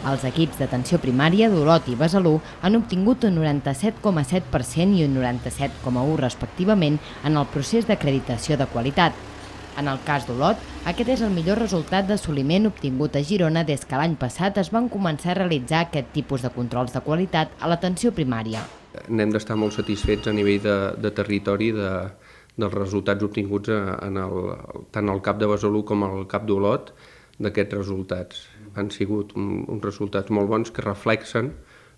Els equips d'atenció primària d'Olot i Besalú han obtingut un 97,7% i un 97,1% respectivament en el procés d'acreditació de qualitat. En el cas d'Olot, aquest és el millor resultat d'assoliment obtingut a Girona des que l'any passat es van començar a realitzar aquest tipus de controls de qualitat a l'atenció primària. N'hem d'estar molt satisfets a nivell de territori dels resultats obtinguts tant al CAP de Besalú com al CAP d'Olot d'aquests resultats. Han sigut uns resultats molt bons que reflexen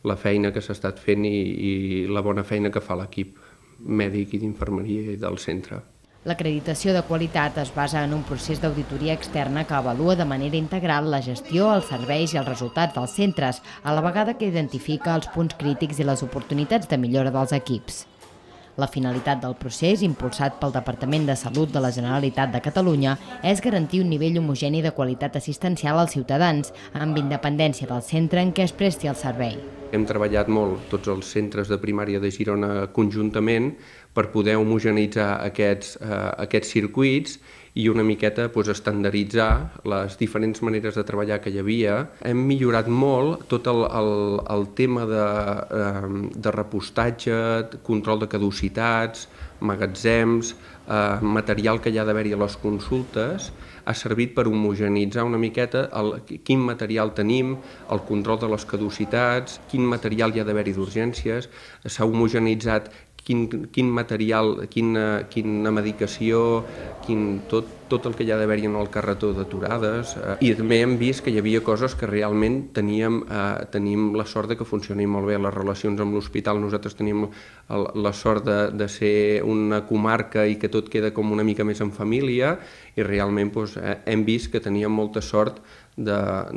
la feina que s'ha estat fent i la bona feina que fa l'equip mèdic i d'infermeria i del centre. L'acreditació de qualitat es basa en un procés d'auditoria externa que avalua de manera integral la gestió, els serveis i els resultats dels centres, a la vegada que identifica els punts crítics i les oportunitats de millora dels equips. La finalitat del procés, impulsat pel Departament de Salut de la Generalitat de Catalunya, és garantir un nivell homogeni de qualitat assistencial als ciutadans, amb independència del centre en què es presti el servei. Hem treballat molt tots els centres de primària de Girona conjuntament per poder homogeneïtzar aquests circuits i una miqueta estandarditzar les diferents maneres de treballar que hi havia. Hem millorat molt tot el tema de repostatge, control de caducitats, magatzems, material que hi ha d'haver-hi a les consultes. Ha servit per homogeneïtzar una miqueta quin material tenim, el control de les caducitats, quin material hi ha d'haver-hi d'urgències. S'ha homogeneïtzat quin material, quina medicació, tot el que hi ha d'haver-hi en el carretó d'aturades. I també hem vist que hi havia coses que realment tenim la sort que funcionin molt bé. Les relacions amb l'hospital, nosaltres tenim la sort de ser una comarca i que tot queda com una mica més en família i realment hem vist que teníem molta sort del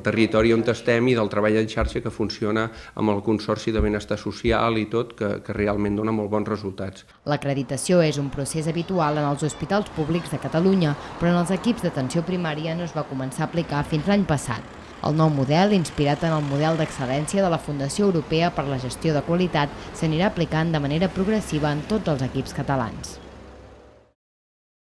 territori on estem i del treball en xarxa que funciona amb el Consorci de Benestar Social i tot, que realment dona molt bons resultats. L'acreditació és un procés habitual en els hospitals públics de Catalunya, però en els equips d'atenció primària no es va començar a aplicar fins l'any passat. El nou model, inspirat en el model d'excel·lència de la Fundació Europea per la Gestió de Qualitat, s'anirà aplicant de manera progressiva en tots els equips catalans.